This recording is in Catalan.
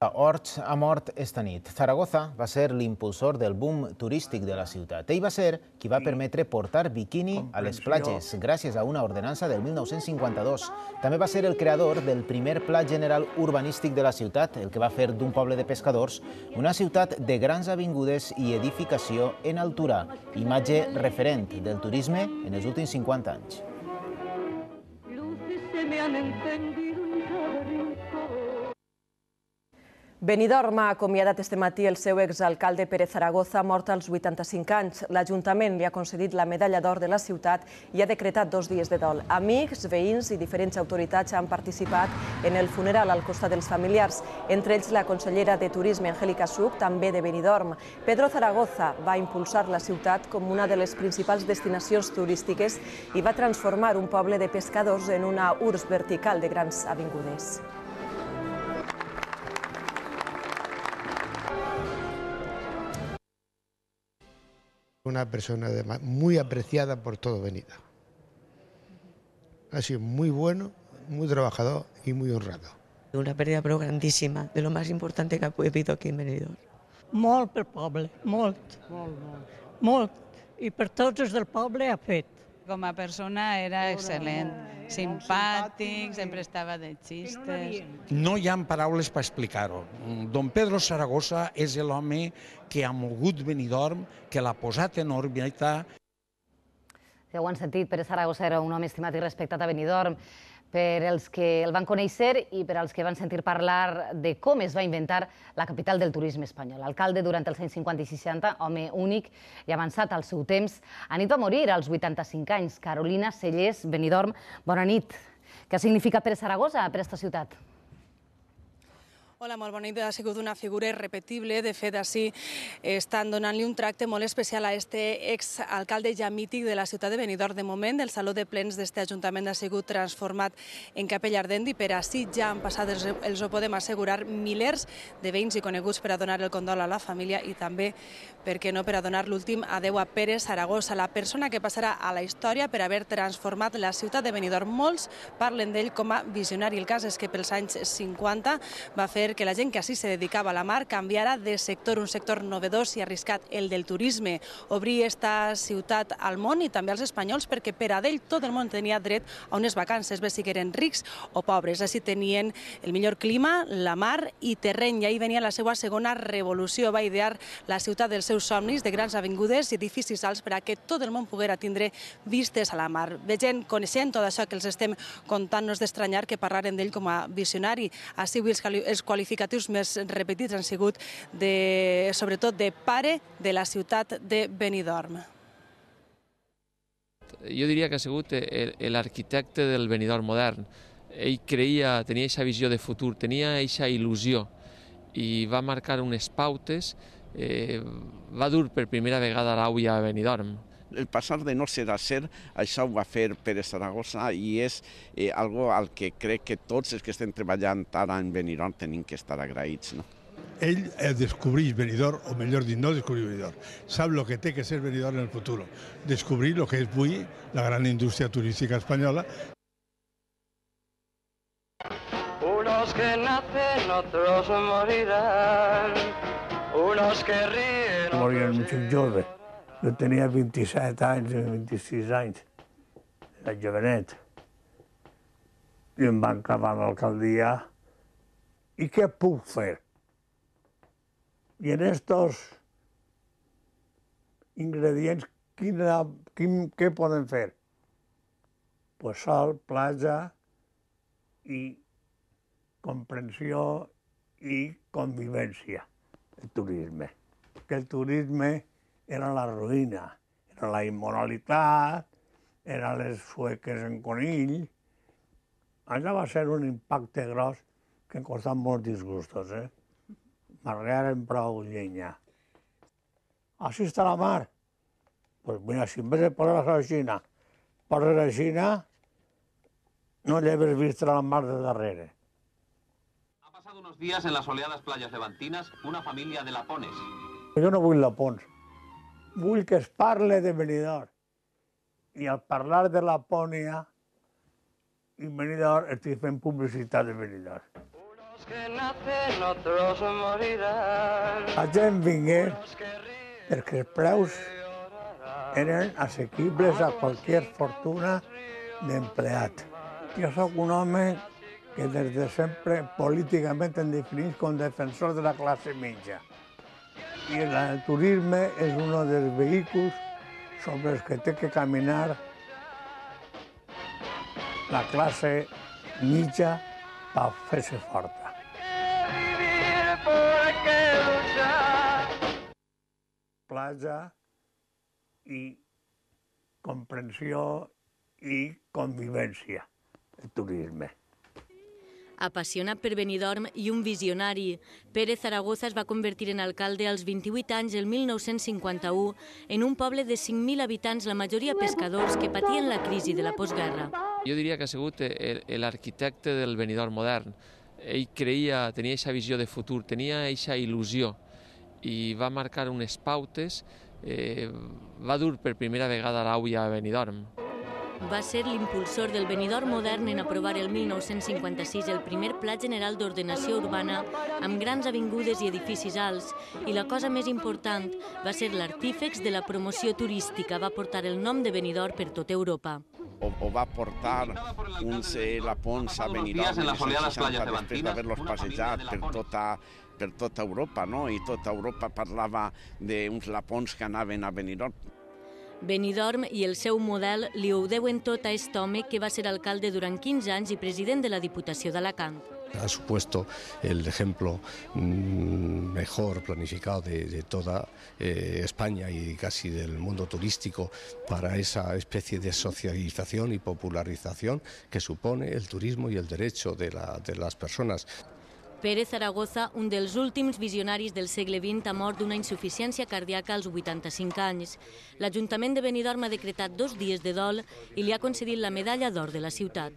Hort ha mort esta nit. Zaragoza va ser l'impulsor del boom turístic de la ciutat. Ell va ser qui va permetre portar biquini a les platges, gràcies a una ordenança del 1952. També va ser el creador del primer pla general urbanístic de la ciutat, el que va fer d'un poble de pescadors una ciutat de grans avingudes i edificació en altura, imatge referent del turisme en els últims 50 anys. Benidorm ha acomiadat este matí el seu exalcalde Pere Zaragoza, mort als 85 anys. L'Ajuntament li ha concedit la medalla d'or de la ciutat i ha decretat 2 dies de dol. Amics, veïns i diferents autoritats han participat en el funeral al costat dels familiars, entre ells la consellera de Turisme, Angélica Such, també de Benidorm. Pedro Zaragoza va impulsar la ciutat com una de les principals destinacions turístiques i va transformar un poble de pescadors en una urbs vertical de grans avingudes. Una persona muy apreciada por todo Benidorm. Ha sido muy bueno, muy trabajador y muy honrado. Una pérdida però grandíssima, de lo más importante que ha habido aquí en Benidorm. Molt pel poble, molt. Molt. I per tots els del poble ha fet. Com a persona era excel·lent, simpàtic, sempre estava de xistes. No hi ha paraules per explicar-ho. Don Pedro Zaragoza és l'home que ha mogut Benidorm, que l'ha posat en òrbita. Ja ho han sentit, Pere Zaragoza era un home estimat i respectat a Benidorm per als que el van conèixer i per als que van sentir parlar de com es va inventar la capital del turisme espanyol. Alcalde durant els anys 50 i 60, home únic i avançat al seu temps. A nit va morir als 85 anys. Carolina Cellers, Benidorm, bona nit. Què ha significat Pere Zaragoza per a aquesta ciutat? Hola, molt bona nit. Ha sigut una figura irrepetible. De fet, així estan donant-li un tracte molt especial a aquest exalcalde ja mític de la ciutat de Benidorm. De moment, el saló de plens d'aquest ajuntament ha sigut transformat en capella ardent i per així ja han passat, els ho podem assegurar, milers de veïns i coneguts per a donar el condol a la família i també, per què no, per a donar l'últim adeu a Pere Zaragoza, la persona que passarà a la història per haver transformat la ciutat de Benidorm. Molts parlen d'ell com a visionari. El cas és que pels anys 50 va fer que la gent que així se dedicava a la mar canviara de sector, un sector novedós i arriscat, el del turisme. Obrir esta ciutat al món i també als espanyols, perquè per a d'ell tot el món tenia dret a unes vacances, bé si eren rics o pobres. Així tenien el millor clima, la mar i terreny. I ahí venia la seva segona revolució. Va idear la ciutat dels seus somnis, de grans avingudes i edificis alts per a que tot el món poguera tindre vistes a la mar. Veient, coneixent tot això que els estem contant, no és d'estranyar que parlaren d'ell com a visionari. Així els qualificatius més repetits han sigut sobretot de pare de la ciutat de Benidorm. Jo diria que ha sigut l'arquitecte del Benidorm modern. Ell creia, tenia aquesta visió de futur, tenia aquesta il·lusió i va marcar unes pautes, va dur per primera vegada l'aulla a Benidorm. El passar de no ser a ser, això ho va fer Pere Zaragoza i és algo al que crec que tots els que estem treballant ara en Benidorm tenim que estar agraïts. Ell descobreix Benidorm, o millor dit, no descobrir Benidorm, sap el que té que ser Benidorm en el futur, descobrir el que és avui la gran indústria turística espanyola. Unos que nacen, otros morirán, unos que ríen, morirán muchos joves. Jo tenia 27 anys, 26 anys, era jovenet, i em van acabar l'alcaldia. I què puc fer? I en estos ingredients, què poden fer? Pues sol, platja i comprensió i convivència, el turisme. Que el turisme era la ruïna, era la immoralitat, eren les sueques en conill. Allà va ser un impacte gros que em costat molts disgustos, m'arregaren prou llenya. Així està la mar. Pues mira, si en vez de posar la Xina, poses la Xina, no lleves vista la mar de darrere. Ha pasado unos días en las soleadas playas levantinas una familia de lapones. Jo no vull lapons. Vull que es parle de Benidorm. I al parlar de Lapònia i Benidorm estic fent publicitat de Benidorm. que nacen, otros morirán. La gent vingué perquè els preus eren assequibles a qualsevol fortuna d'empleat. Jo sóc un home que des de sempre políticament em definís com defensor de la classe mitja. I el turisme és un dels vehicles sobre els que té que caminar la classe mitja per fer-se forta. Platja i comprensió i convivència, el turisme. Apassionat per Benidorm i un visionari, Pere Zaragoza es va convertir en alcalde als 28 anys el 1951 en un poble de 5.000 habitants, la majoria pescadors, que patien la crisi de la postguerra. Jo diria que ha sigut l'arquitecte del Benidorm modern. Ell tenia aquesta visió de futur, tenia aquesta il·lusió i va marcar unes pautes, va dur per primera vegada l'aulla a Benidorm. Va ser l'impulsor del Benidorm modern en aprovar el 1956 el primer Pla General d'Ordenació Urbana amb grans avingudes i edificis alts, i la cosa més important va ser l'artífex de la promoció turística, va portar el nom de Benidorm per tota Europa. O va portar la Pons a Benidorm després d'haver-los passejat per tota Europa, no? I tota Europa parlava d'uns lapons que anaven a Benidorm. Benidorm i el seu model li ho deuen tot a aquest home que va ser alcalde durant 15 anys i president de la Diputació d'Alacant. Ha supuesto el ejemplo mejor planificado de toda España y casi del mundo turístico para esa especie de socialización y popularización que supone el turismo y el derecho de las personas. Pere Zaragoza, un dels últims visionaris del segle XX, ha mort d'una insuficiència cardíaca als 85 anys. L'Ajuntament de Benidorm ha decretat 2 dies de dol i li ha concedit la medalla d'or de la ciutat.